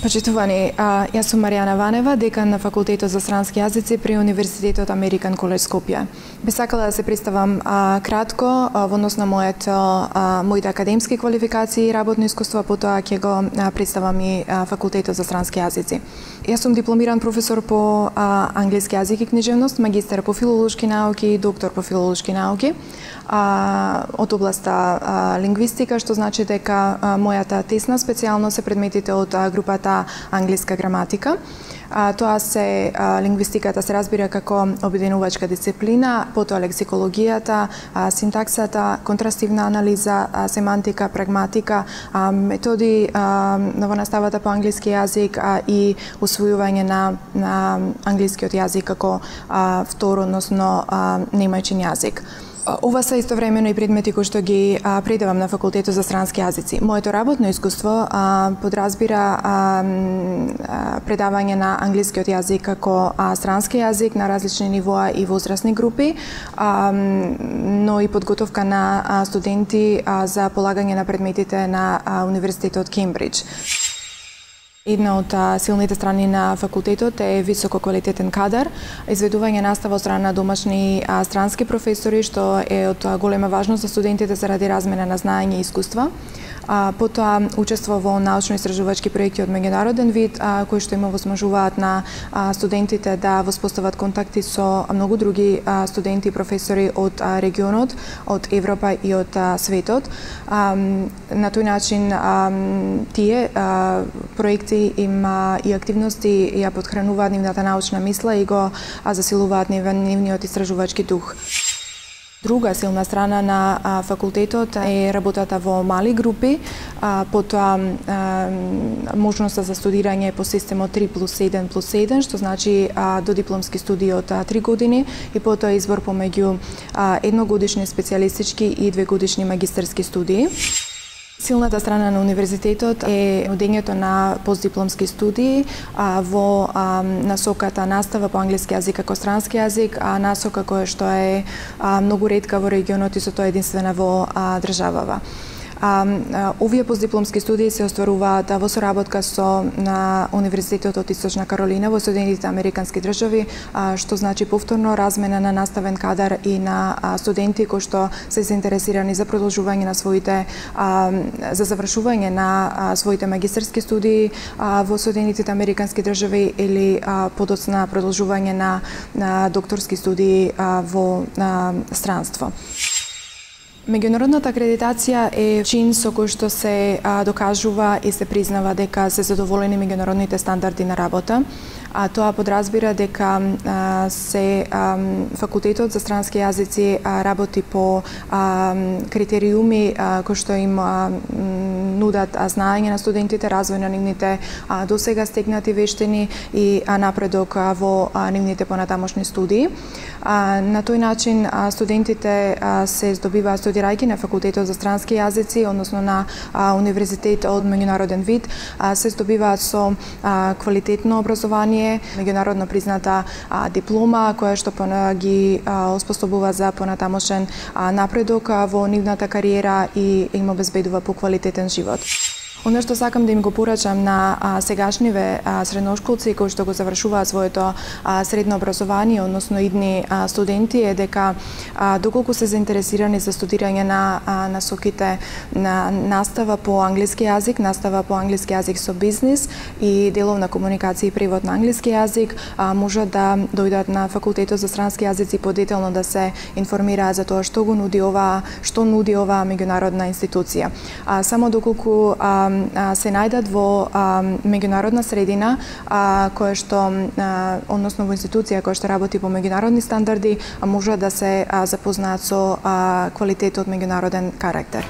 Почитувани, јас сум Маријана Ванева, декан на Факултетот за странски јазици при Универзитетот Американ Колеж Скопје. Би сакала да се представам кратко во однос на моите академски квалификации и работно искуство, потоа ќе го представам и Факултетот за странски јазици. Јас сум дипломиран професор по англиски јазик и книжевност, магистар по филолошки науки и доктор по филолошки науки од областа лингвистика, што значи дека мојата тесна специјалност се предметите од групата англиска граматика. Тоа се лингвистиката се разбира како обединувачка дисциплина, потоа лексикологијата, синтаксата, контрастивна анализа, семантика, прагматика, методи во наставата по англиски јазик и усвојување на англискиот јазик како втор, односно немајчин јазик. Ова се истовремено и предмети кои што ги предавам на Факултетот за странски јазици. Моето работно искуство подразбира предавање на англискиот јазик како странски јазик на различни нивоа и возрастни групи, но и подготовка на студенти за полагање на предметите на Универзитетот Кембридж. Една од силните страни на факултетот е високо квалитетен кадар, изведување настава од страна на домашни странски професори, што е од голема важност за студентите заради размена на знаење и искуства. Потоа учество во научно-истражувачки проекти од меѓународен вид, кои што им овозможуваат на студентите да воспостават контакти со многу други студенти и професори од регионот, од Европа и од светот. На тој начин тие проекти и активности ја потхрануваат нивната научна мисла и го засилуваат нивниот истражувачки дух. Друга силна страна на факултетот е работата во мали групи, потоа можноста за студирање по системот 3+1+1, што значи додипломски студии од 3 години и потоа избор помеѓу едногодишни специјалистички и 2-годишни магистерски студии. Силната страна на универзитетот е нудењето на постдипломски студии во насоката настава по англиски јазик како странски јазик, насока која што е многу ретка во регионот и со тоа единствена во државава. Овие постдипломски студии се остваруваат во соработка со Универзитетот од Источна Каролина во Соединетите Американски држави, што значи повторно размена на наставен кадар и на студенти кои што се заинтересирани за продолжување на своите за завршување на своите магистерски студии во Соединетите Американски држави или подоцна продолжување на докторски студии во странство. Меѓународната акредитација е чин со кој што се докажува и се признава дека се задоволени меѓународните стандарди на работа. Тоа подразбира дека Факултетот за странски јазици работи по критериуми кои што им нудат знаење на студентите, развој на нивните досега стекнати вештини и напредок во нивните понатамошни студии. На тој начин студентите се здобиваат студирајќи на Факултетот за странски јазици, односно на универзитет од меѓународен вид, се здобиваат со квалитетно образование, меѓународно призната диплома, која што ги оспособува за понатамошен напредок во нивната кариера и им обезбедува поквалитетен живот. Оно што сакам да им го порачам на сегашниве средношколци кои што го завршуваат своето средно образование, односно идни студенти, е дека доколку се заинтересирани за студирање на насоките на настава по англиски јазик, настава по англиски јазик со бизнис и деловна комуникација и превод на англиски јазик, можат да дојдат на Факултетот за странски јазици подетелно да се информираат за тоа што нуди оваа меѓународна институција. Само доколку се најдат во меѓународна средина која што односно во институција која што работи по меѓународни стандарди, можат да се запознаат со квалитетот меѓународен карактер.